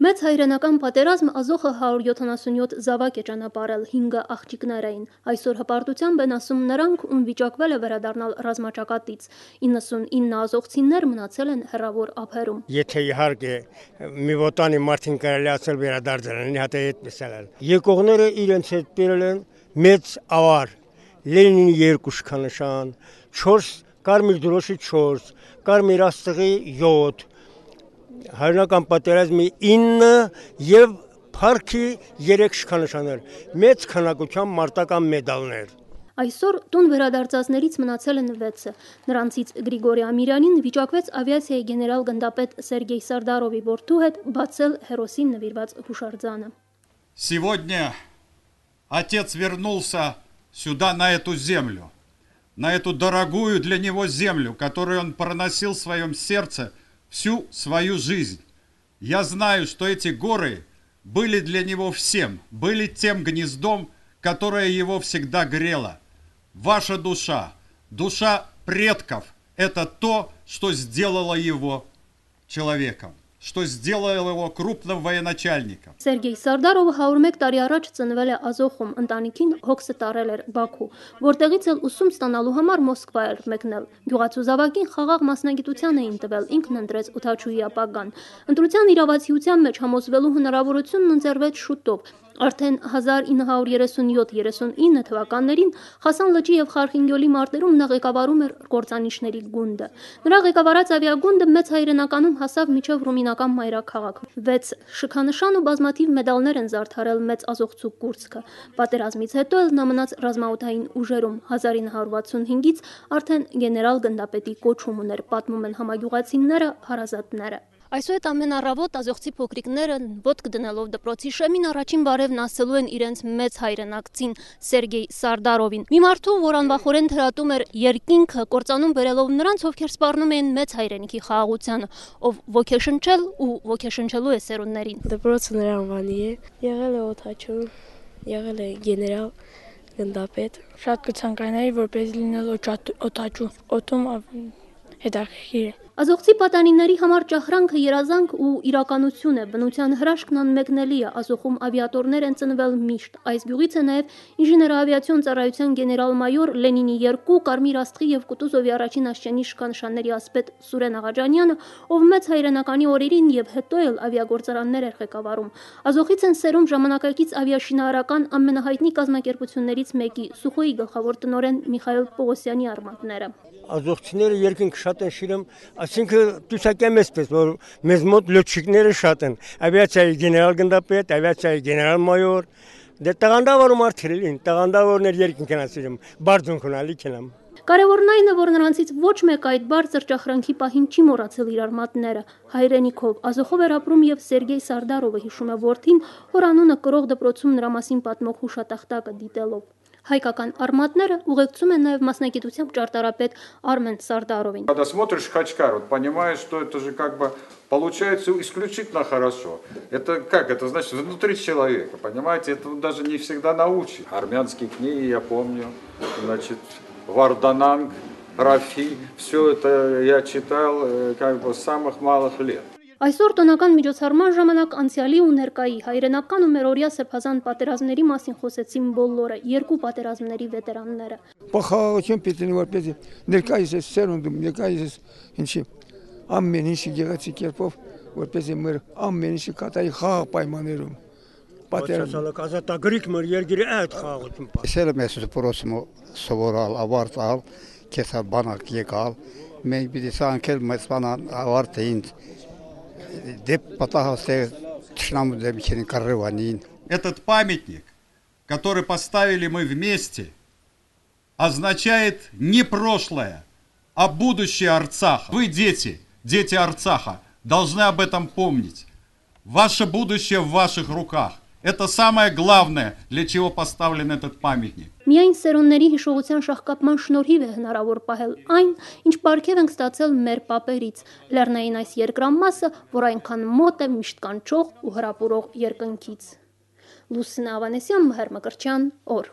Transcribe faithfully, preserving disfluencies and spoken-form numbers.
Մեծ հայրենական պատերազմ Ազոխը հարյուր յոթանասունյոթ զավակ է ճանապարհել, հինգը աղջիկներ էին։ Այսօր հպարտությամբ են ասում նրանք, ում վիճակվել է վերադառնալ ռազմաճակատից։ իննսունինը ազոխցիներ մնացել են հեռավոր ափերում։ Եթե իհարկե մի ոտանի մարդին կարելի ասել վերադարձել են, հատե այդպես էլ։ Եկողները իրենց հետ բերել են մեծ ավար, Լենինի երկու շքանշան, չորս կարմիր դրոշի չորս, կարմիր աստղի յոթ, հայրենական պատերազմի ինը եւ փառքի երեք շքանշաններ, մեծ քանակությամբ մարտական մեդալներ։ Այսօր տուն վերադարձածներից մնացել են վեցը։ Նրանցից Գրիգորի Ամիրյանին վիճակվեց ավիացիայի գեներալ գնդապետ Սերգեյ Սարդարովի որդու հետ բացել հերոսին նվիրված հուշարձանը։ Сегодня отец вернулся сюда, на эту землю, на эту дорогую для него землю, которую он проносил в своем сердце всю свою жизнь. Я знаю, что эти горы были для него всем, были тем гнездом, которое его всегда грело. Ваша душа, душа предков, это то, что сделало его человеком, что сделало его крупным военачальником. Սերգեյ Սարդարովը հարյուր մեկ տարի առաջ ծնվել է Ազոխում, ընտանիքին հոգսը տարել էր Բաքու, որտեղից էլ ուսում ստանալու համար Մոսկվա էր մեկնել։ Գյուղացու զավակին խաղաղ մասնագիտության էին տվել, ինքն ընտրեց օդաչուի ապագան։ Ընտրության իրավացիության մեջ համոզվելու հնարավորությունն ընձեռվեց շուտով։ Արդեն հազար ինը հարյուր երեսունյոթ երեսունինը թվականներին Խասան լճի եւ Խարխինգյոլի մարտերում նա ղեկավարում էր կործանիչների գունդը։ Նրա ղեկավարած ավիագունդը մեծ հայրենականում հասավ մինչև ռումինական մայրաքաղաք։ վեց շքանշան ու բազմաթիվ մեդալներ են զարդարել մեծ ազոխցու կուրծքը։ Պատերազմից հետո էլ նա մնաց ռազմաօդային ուժերում։ հազար ինը հարյուր վաթսունհինգից արդեն գեներալ գնդապետի կոչում ուներ, պատմում են համագյուղացիները, հարազատները։ Այսուհետ ամեն առավոտ ազոխցի փոքրիկները ոտք դնելով դպրոցի շեմին առաջին բարևն ասելու են իրենց մեծ հայրենակցին Սերգեյ Սարդարովին։ Մի մարդու, որ անվախորեն թրատում էր երկինքը, կործանում բերելով նրանց, ովքեր սպառնում էին մեծ հայրենիքի խաղաղությանը, ով ոգեշնչել ու ոգեշնչելու է սերունդներին։ Դպրոցը նրա անվանի է, եղել է օդաչու, եղել է գեներալ գնդապետ։ Շատ կցանկանայի, որպես լինել օդաչու, օդում հետաքրքիր է։ Ազոխցի պատանիների համար ճախրանքը երազանք ու իրականություն է, բնության հրաշքն անմեկնելի է, Ազոխում ավիատորներ են ծնվել միշտ։ Այս գյուղից է նաև ինժեներավիացիոն ծառայության գեներալ-մայոր Լենինի երկու, Կարմիր աստղի եւ Կուտուզովի առաջին աշճանի շքանշանների ասպետ Սուրեն Աղաջանյանը, ով մեծ հայրենականի օրերին եւ հետո էլ ավիագործարաններ էր ղեկավարում։ Ազոխից են սերում ժամանակակից ավիաշինարարական ամենահայտնի կազմակերպություններից մեկի Սուխոյի գլխավոր տնօրեն Միխայել Պողոսյանի արմատները։ Ազոխցիները երկինք շատ են շիրում, այսինքն դուսակեմ էսպես, որ մեզ մոտ լոչիկները շատ են, ավիացիայի գեներալ գնդապետ, ավիացիայի գեներալ-մայոր, դե տաղանդավոր մարդեր են, տաղանդավորներ երկինք են ասիրում, բարձունք ունալիք են։ Կարևորն այն է, որ նրանցից ոչ մեկ այդ բարձր ճախրանքի պահին չի մոռացել իր արմատները, հայրենիքով, Ազոխով էր ապրում եւ Սերգեյ Սարդարովը հիշում է որդին, որ անունը կրող դպրոցում նրա մասին պատմող հուշատախտակը դիտելով։ Հայկական արմատները ուղեկցում են նաև մասնագիտությամբ ճարտարապետ Արմեն Սարդարովին։ Когда смотришь Хачкар, вот понимаешь, что это же как бы получается исключительно хорошо. Это как? Это значит внутри человека, понимаете? Это даже не всегда научишь. Армянские книги я помню, значит, Вардананг, Рафи, все это я читал как бы с самых малых лет. Այսօր տոնական միջոցառման ժամանակ անցյալի ու ներկայի հայրենական ու մերօրյա սրբազան պատերազմների մասին խոսեցին բոլորը, երկու պատերազմների վետերանները։ Փոխարոն պիտի որպեսզի ներկայիս է սերունդում, ներկայիս ինչի ամեն ինչի գեղեցիկ կերպով որպեսզի մեր ամեն ինչի կատարի խաղաղ պայմաններում։ Պատերազմը ազատագրիկ մեր երկրի այդ խաղաղություն։ Սերը մեզ դպրոցում սովորալ, ավարտալ, քեսա բանակ եկալ, մենք պիտի սանքել մեծ բանան ավարտեին։ Этот памятник, который поставили мы вместе, означает не прошлое, а будущее Арцаха. Вы, дети, дети Арцаха, должны об этом помнить. Ваше будущее в ваших руках. Это самое главное, для чего поставлен этот памятник. Միայն սերունդների հիշողության շահկապման շնորհիվ է հնարավոր պահել այն, ինչ պարգև ենք ստացել մեր պապերից, լեռնային այս երկրամասը, որ այնքան մոտ է միշտ կանչող ու հրապուրող երկնքից։ Լուսինե Ավանեսյան, Մհեր Մկրտչյան, օր։